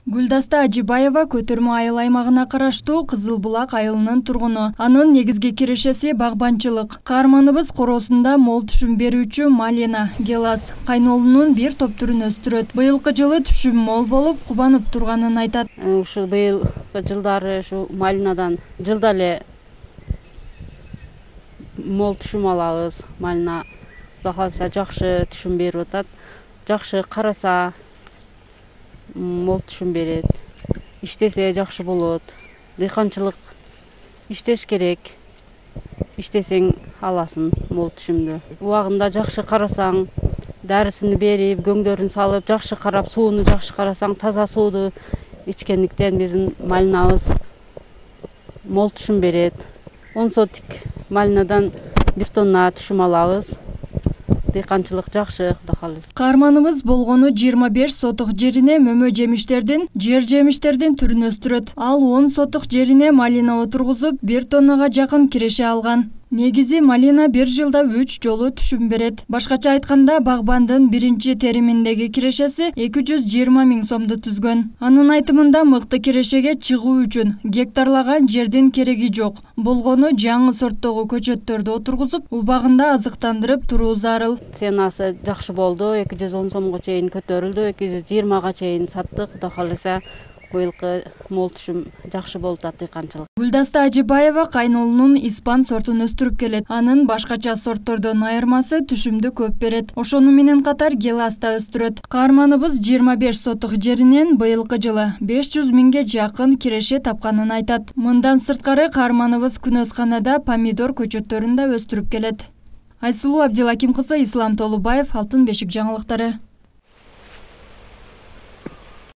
Гүлдаста Ажибаева Көтөрмө айыл аймагына караштуу Кызыл Булак айылынын тургуну. Анын негизги кирешеси багбанчылык. Каарманыбыз короосунда мол түшүм берүүчү малина, гелас, кайнолунун бир топ түрүн өстүрөт. Быйылкы жылы түшүм мол болуп, кубанып турганын айтат. Ушу быйылкы жылдары ушу малинадан жылда эле мол түшүм алабыз. Малина Кудай кааласа жакшы түшүм берип атат. Жакшы караса мол түшүм берет. Иштесе жакшы болот. Дыйканчылык иштеш керек. Иштесең аласың мол түшүмдү. Убагында жакшы карасаң, дарысын берип, көңдөрүн салып, жакшы карап, сууну жакшы карасаң, таза сууду ичкендиктен биздин малинабыз мол түшүм берет. 10 сотик малинадан 1 тонна түшүм алабыз. Дыйканчылык жакшы, Кудай кааласа. Каарманыбыз болгону 25 сотук жерине мөмө жемиштердин, жер жемиштердин түрүн өстүрөт. Ал 10 сотук жерине малина отургузуп, 1 тоннага жакын киреше алган. Негизи малина бир жылда 3 жолу түшүм берет. Башкача айтканда, багбандын биринчи териминдеги кирешеси 220 000 сомду түзгөн. Анын айтымында мыкты кирешеге чыгуу үчүн гектарлаган жердин кереги жок. Болгону жаңы сорттогу көчөттөрдү отургузуп, убагында азыктандырып туруу зарыл. Ценасы жакшы болду. 210 сомго чейин көтөрүлдү. 220 чейин саттык. Кудай кааласа быйылкы мол түшүм жакшы болуп атат дыйканчылык. Гүлдаста Ажибаева кайнолунун испан сортун өстүрүп келет. Анын башкача сорттордон айырмасы түшүмдү көп берет. Ошону менен катар гелас да өстүрөт. Каарманыбыз 25 сотук жеринен быйылкы жылы 500 000 жакын киреше тапканын айтат. Мындан сырткары каарманыбыз күнөсканада помидор көчөттөрүн да өстүрүп келет. Айсулуу Абдилаким кызы, Ислам Толубаев, Алтын бешик жаңылыктары.